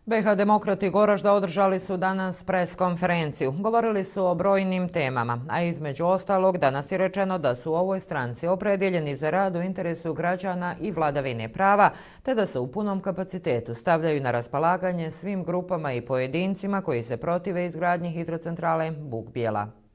BiH Demokrati Goražda održali su danas pres konferenciju. Govorili su o brojnim temama, a između ostalog danas je rečeno da su u ovoj stranci opredjeljeni za rad u interesu građana i vladavine prava, te da se u punom kapacitetu stavljaju na raspolaganje svim grupama i pojedincima koji se protive izgradnji hidrocentrale Buk Bijela.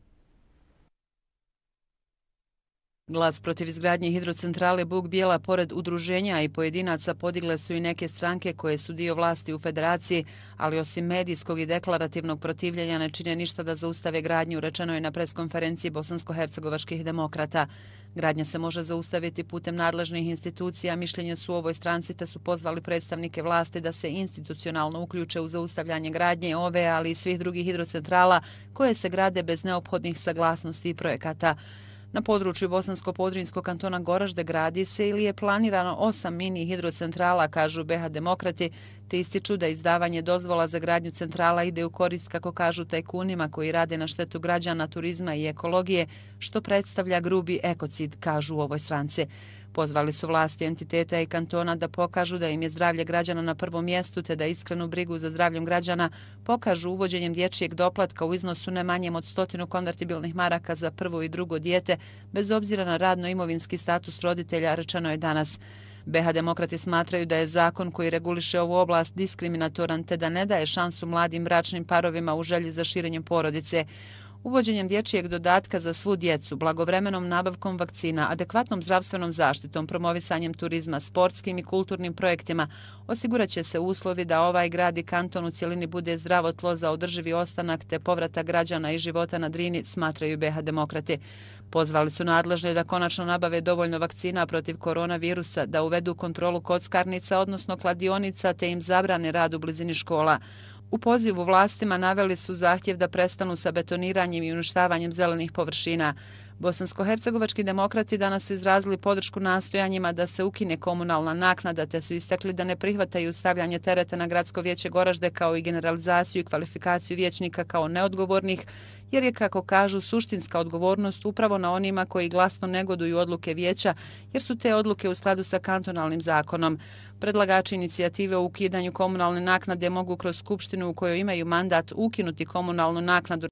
Glas protiv izgradnje hidrocentrale Buk Bijela pored udruženja i pojedinaca podigle su i neke stranke koje su dio vlasti u federaciji, ali osim medijskog i deklarativnog protivljenja ne čine ništa da zaustave gradnju, rečeno je na preskonferenciji bosansko-hercegovačkih demokrata. Gradnja se može zaustaviti putem nadležnih institucija, mišljenje su u ovoj stranci te su pozvali predstavnike vlasti da se institucionalno uključe u zaustavljanje gradnje ove, ali i svih drugih hidrocentrala koje se grade bez neophodnih saglasnosti i projekata. Na području Bosansko-Podrinjskog kantona Goražde gradi se ili je planirano 8 mini hidrocentrala, kažu BiH Demokrati, te ističu da izdavanje dozvola za gradnju centrala ide u korist, kako kažu, tajkunima koji rade na štetu građana, turizma i ekologije, što predstavlja grubi ekocid, kažu u ovoj stranci. Pozvali su vlasti entiteta i kantona da pokažu da im je zdravlje građana na prvom mjestu te da iskrenu brigu za zdravljem građana pokažu uvođenjem dječjeg doplatka u iznosu ne manjem od 100 konvertibilnih maraka za prvo i drugo dijete, bez obzira na radno-imovinski status roditelja, rečeno je danas. BiH Demokrati smatraju da je zakon koji reguliše ovu oblast diskriminatoran te da ne daje šansu mladim bračnim parovima u želji za širenjem porodice. Uvođenjem dječjeg dodatka za svu djecu, blagovremenom nabavkom vakcina, adekvatnom zdravstvenom zaštitom, promovisanjem turizma, sportskim i kulturnim projektima osigurat će se uslovi da ovaj grad i kanton u cjelini bude zdravo tlo za održivi ostanak te povratak građana i života na Drini, smatraju BiH Demokrati. Pozvali su nadležne da konačno nabave dovoljno vakcina protiv koronavirusa, da uvedu kontrolu kockarnica, odnosno kladionica, te im zabrane rad u blizini škola. U pozivu vlastima naveli su zahtjev da prestanu sa betoniranjem i uništavanjem zelenih površina. Bosansko-hercegovački demokrati danas su izrazili podršku nastojanjima da se ukine komunalna naknada, te su istakli da ne prihvataju stavljanje tereta na gradsko vijeće Goražde kao i generalizaciju i kvalifikaciju vijećnika kao neodgovornih, jer je, kako kažu, suštinska odgovornost upravo na onima koji glasno negoduju odluke vijeća, jer su te odluke u skladu sa kantonalnim zakonom. Predlagači inicijative o ukidanju komunalne naknade mogu kroz skupštinu u kojoj imaju mandat ukinuti komunalnu naknadu